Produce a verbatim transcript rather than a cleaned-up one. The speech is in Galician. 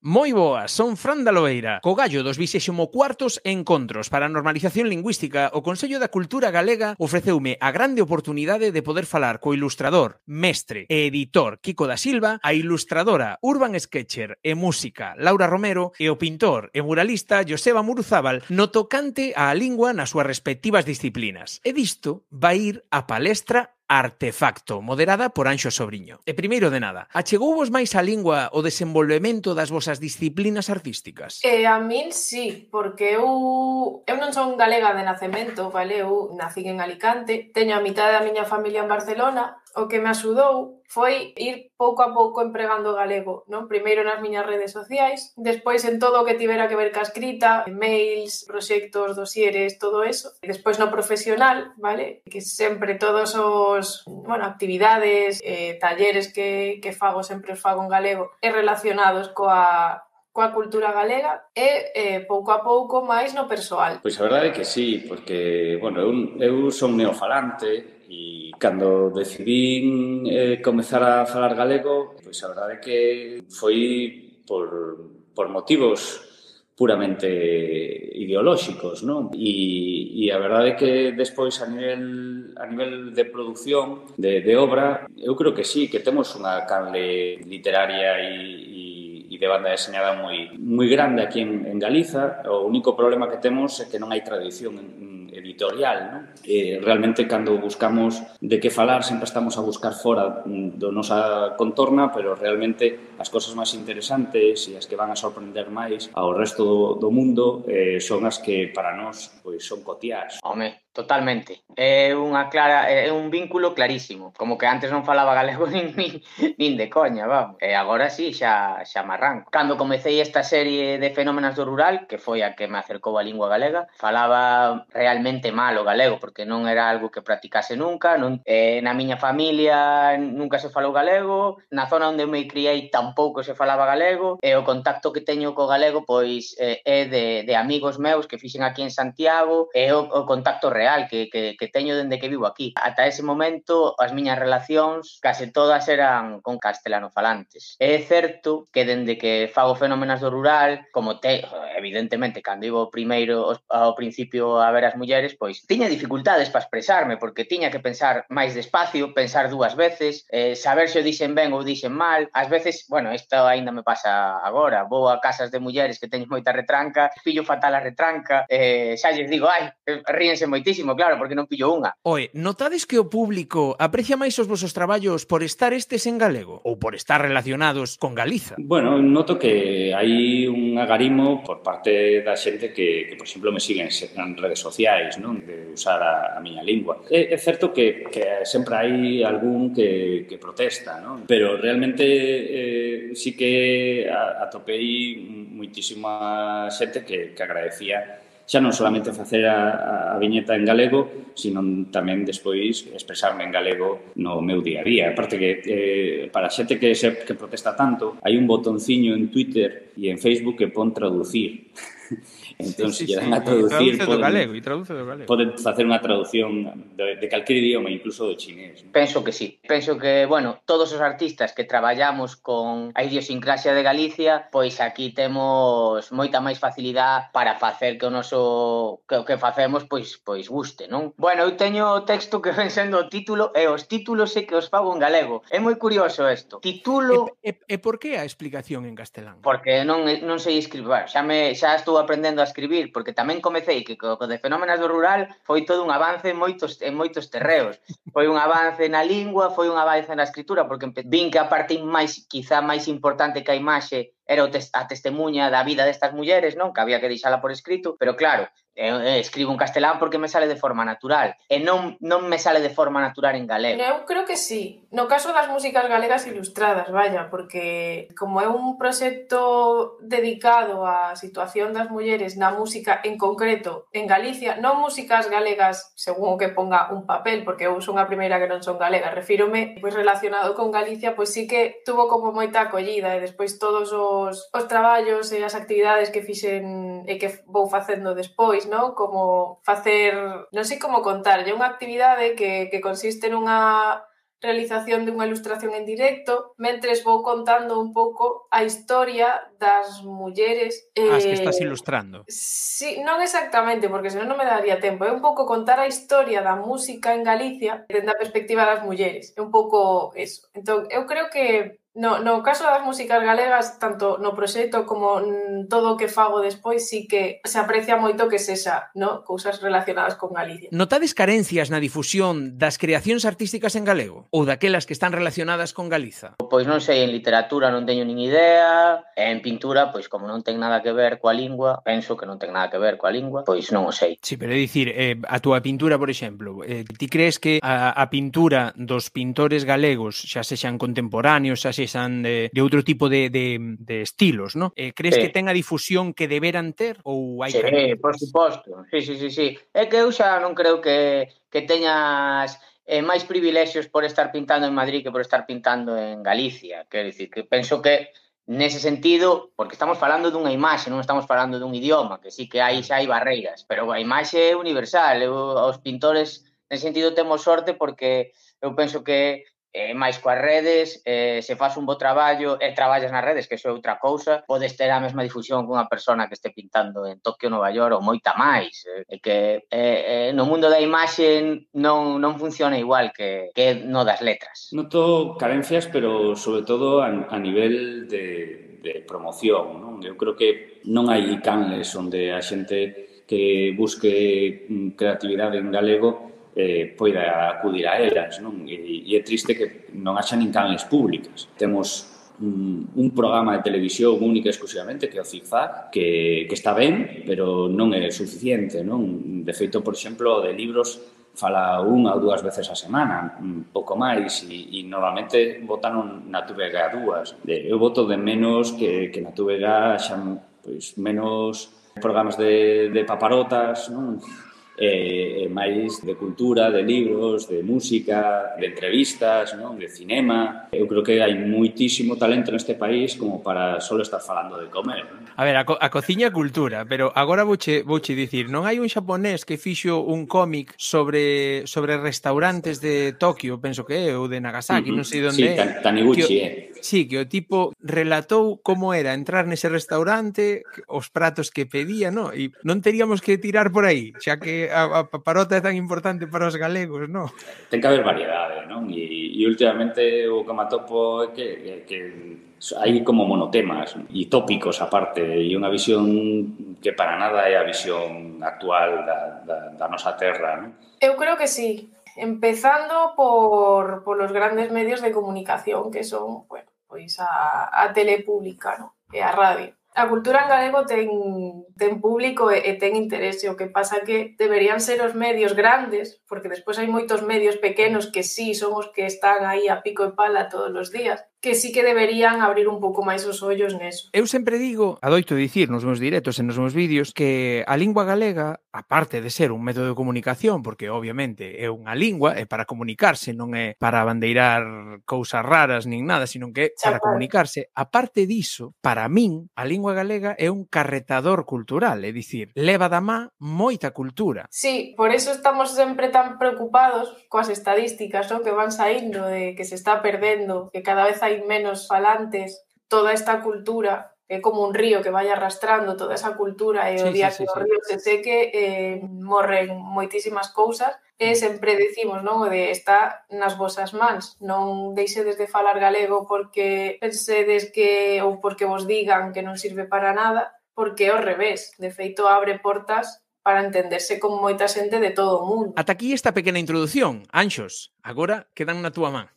Moi boas, son Fran da Loeira. Co gallo dos vixésimo cuartos Encontros para a Normalización Lingüística, o Consello da Cultura Galega ofreceume a grande oportunidade de poder falar co ilustrador, mestre e editor Kiko da Silva, a ilustradora, urban sketcher e música Laura Romero e o pintor e muralista Joseba Muruzábal no tocante á lingua nas súas respectivas disciplinas. E disto vai ir a palestra Artefacto, moderada por Anxo Sobriño. E primeiro de nada, achegouvos máis á lingua o desenvolvemento das vosas disciplinas artísticas? Eh, a min sí, porque eu, eu non son galega de nacemento, vale? Eu nací en Alicante, teño a mitad da miña familia en Barcelona. O que me axudou foi ir pouco a pouco empregando galego, non? Primeiro nas miñas redes sociais, despois en todo o que tivera que ver ca escrita, mails, proxectos, dosieres, todo eso. E despois no profesional, vale? Que sempre todos os, bueno, actividades, eh, talleres que, que fago, sempre os fago en galego, e relacionados coa coa cultura galega e eh, pouco a pouco máis no persoal. Pois a verdade é que sí, porque, bueno, eu, eu son neofalante e cando decidín eh, comezar a falar galego, pois a verdade é que foi por, por motivos puramente ideolóxicos, non? E, e a verdade é que despois a nivel a nivel de produción, de, de obra, eu creo que sí, que temos unha canle literaria e, e e de banda deseñada moi moi grande aquí en, en Galiza. O único problema que temos é que non hai tradición editorial, non? E realmente cando buscamos de que falar sempre estamos a buscar fora do nosa contorna, pero realmente as cosas máis interesantes e as que van a sorprender máis ao resto do, do mundo eh, son as que para nós pois son cotiás. Home, totalmente. É unha clara, é un vínculo clarísimo. Como que antes non falaba galego nin, nin, nin de coña, vamos. E agora sí, xa, xa me arranco. Cando comecei esta serie de Fenómenos do Rural, que foi a que me acercou a lingua galega, falaba realmente mal o galego, porque non era algo que practicase nunca. Non, eh, na miña familia nunca se falou galego, na zona onde me criei tampouco se falaba galego, e o contacto que teño co galego pois eh, é de, de amigos meus que fixen aquí en Santiago, e o, o contacto real que, que, que teño dende que vivo aquí. Ata ese momento as miñas relacións case todas eran con castelano falantes. É certo que dende que fago Fenómenos do Rural, como te, evidentemente, cando iba primeiro ao principio a ver as mulleres, pois tiña dificultades para expresarme, porque tiña que pensar máis despacio, pensar dúas veces, eh, saber se o dixen ben ou dixen mal. Ás veces, bueno, isto aínda me pasa agora, vou a casas de mulleres que teñen moita retranca, pillo fatal a retranca, eh, xa lles digo, ai, ríense moitísimo, claro, porque non pillo unha. Oe, notades que o público aprecia máis os vosos traballos por estar estes en galego ou por estar relacionados con Galiza? Bueno, noto que hai un agarimo por parte da xente que, que por exemplo, me siguen en redes sociais, non? De usar a, a miña lingua. É, é certo que, que sempre hai algún que, que protesta, non? Pero realmente eh, sí que atopei moitísima xente que, que agradecía xa non solamente facer a, a viñeta en galego, sino tamén despois expresarme en galego no meu día a día. Aparte que eh, para a xente que, se, que protesta tanto, hai un botonciño en Twitter e en Facebook que pon traducir. Entón, sí, sí, se lle dan sí, a traducir, traduce do galego, e traduce do galego. Poden facer unha traducción de, de calquer idioma, incluso do chinés. Penso que sí. Penso que, bueno, todos os artistas que traballamos con a idiosincrasia de Galicia, pois aquí temos moita máis facilidade para facer que o noso que o que facemos pois pois guste, non? Bueno, eu teño o texto que ven sendo o título e os títulos é que os fago en galego. É moi curioso isto. Titulo... E, e, e por que a explicación en castelán? Porque non non sei escribir, bueno, xa me xa estou aprendendo a escribir, porque tamén comecei que co, co de Fenómenos do Rural foi todo un avance en moitos en moitos terreos. Foi un avance na lingua, foi un avance na escritura, porque vin que a parte máis, quizá máis importante que a imaxe era a testemunha da vida destas mulleres, non? Que había que deixala por escrito, pero claro, eu escribo en castelán porque me sale de forma natural, e non, non me sale de forma natural en galego. Eu creo que sí, no caso das músicas galegas ilustradas, vaya, porque como é un proxecto dedicado á situación das mulleres na música en concreto en Galicia, non músicas galegas según o que ponga un papel, porque eu son a primeira que non son galega, refírome pois relacionado con Galicia, pois sí que tuvo como moita acollida, e despois todos os, os traballos e as actividades que fixen e que vou facendo despois, non? Como facer, non sei como contar, é unha actividade que, que consiste nunha realización dunha ilustración en directo, mentres vou contando un pouco a historia das mulleres. As que eh, estás ilustrando. Sí, non exactamente, porque senón non me daría tempo. É un pouco contar a historia da música en Galicia dende a perspectiva das mulleres. É un pouco eso. Entón, eu creo que no, no caso das músicas galegas, tanto no proxecto como mm, todo o que fago despois, sí que se aprecia moito que sexa, no? Cousas relacionadas con Galicia. Notades carencias na difusión das creacións artísticas en galego? Ou daquelas que están relacionadas con Galiza? Pois non sei, en literatura non teño nin idea, en pintura, pois como non ten nada que ver coa lingua, penso que non ten nada que ver coa lingua, pois non o sei. Sí, pero é dicir, eh, a túa pintura, por exemplo, eh, ti crees que a, a pintura dos pintores galegos, xa sexan contemporáneos, xa sexan de, de outro tipo de, de, de estilos, ¿no? Eh, crees Sí. que ten a difusión que deberan ter ou hai Sí, carencias? por suposto. Sí, sí, sí, sí. É que eu xa non creo que, que teñas eh, máis privilexios por estar pintando en Madrid que por estar pintando en Galicia. Quero dicir, que penso que nese sentido, porque estamos falando dunha imaxe, non estamos falando dun idioma, que sí que hai xa hai barreiras, pero a imaxe é universal. Eu, os pintores, nese sentido, temos sorte porque eu penso que eh, máis coas redes, eh, se faz un bo traballo e traballas nas redes, que iso é outra cousa, podes ter a mesma difusión que unha persona que este pintando en Tokio, Nova York, ou moita máis. Eh, e que eh, eh, no mundo da imaxe non, non funciona igual que, que no das letras. Noto carencias, pero sobre todo a, a nivel de, de promoción, non? Eu creo que non hai canles onde a xente que busque creatividade en galego eh, poida acudir a elas, non? E, e é triste que non haxa nin canles públicas. Temos un, un programa de televisión única exclusivamente que é o Zigzag, que, que está ben, pero non é suficiente, non? De feito, por exemplo, de libros fala unha ou dúas veces a semana, un pouco máis, e, e normalmente votan na T V G dúas. Eu voto de menos que, que na T V G xa pois, menos programas de, de paparotas, non? E, e máis de cultura, de libros, de música, de entrevistas, non? De cinema. Eu creo que hai moitísimo talento neste país como para só estar falando de comer, non? A ver, a, co a cociña é cultura, pero agora vouche, vouche dicir, non hai un xaponés que fixo un cómic sobre sobre restaurantes de Tokio, penso que é, ou de Nagasaki, Uh-huh. non sei onde sí, é. tan, Taniguchi, é. Sí, que o tipo relatou como era entrar nese restaurante, os pratos que pedía, non? E non teríamos que tirar por aí, xa que a, a paparota é tan importante para os galegos, non? Ten que haber variedade, non? E, e últimamente o que me atopo é que, que, que hai como monotemas e tópicos aparte, e unha visión que para nada é a visión actual da, da, da nosa terra, non? Eu creo que sí, empezando por, por los grandes medios de comunicación, que son, bueno, pois a, a tele pública, no? E a radio. A cultura en galego ten, ten público e, e ten interese, o que pasa que deberían ser os medios grandes, porque despois hai moitos medios pequenos que sí son os que están aí a pico e pala todos os días, que sí que deberían abrir un pouco máis os ollos neso. Eu sempre digo, adoito dicir nos meus directos e nos meus vídeos, que a lingua galega, aparte de ser un método de comunicación, porque obviamente é unha lingua, é para comunicarse, non é para bandeirar cousas raras nin nada, sino que é para comunicarse. Aparte diso, para min, a lingua galega é un carretador cultural, é dicir, leva da má moita cultura. Sí, por eso estamos sempre tan preocupados coas estadísticas, ¿no? Que van saindo de que se está perdendo, que cada vez hai menos falantes, toda esta cultura é como un río que vai arrastrando toda esa cultura e o Sí, día sí, que sí, o sí. río se seque eh, morren moitísimas cousas e sempre decimos, non, o de está nas vosas mans, non deixedes de falar galego porque pensedes que ou porque vos digan que non sirve para nada, porque é ao revés, de feito abre portas para entenderse con moita xente de todo o mundo. Ata aquí esta pequena introdución. Anxos, agora quedan na túa man.